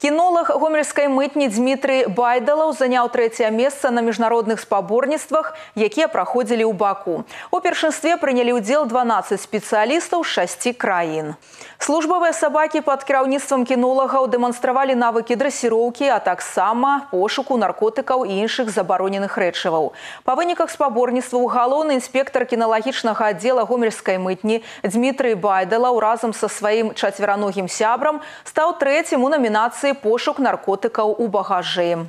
Кінолог гомельскай мытні Дмітрий Байдалаў заняў трэцяе месца на міжнародных спаборніцтвах, якія праходзілі ў Баку. У першынстве прынялі ўдзел 12 спецыялістаў з 6 краін. Службовыя сабакі пад кіраўніцтвам кінолагаў дэманстравалі навыкі дрэсіроўкі, а таксама пошуку наркотыкаў і іншых забароненых рэчываў. Па выніках спаборніцтваў галоўны інспектар кіналагічнага аддзела гомельскай мытні Дмітрий Байдалаў разам са сваім чацвераногім сябрам стаў трэцім у намінацыі «Пошук наркотыкаў у багажы».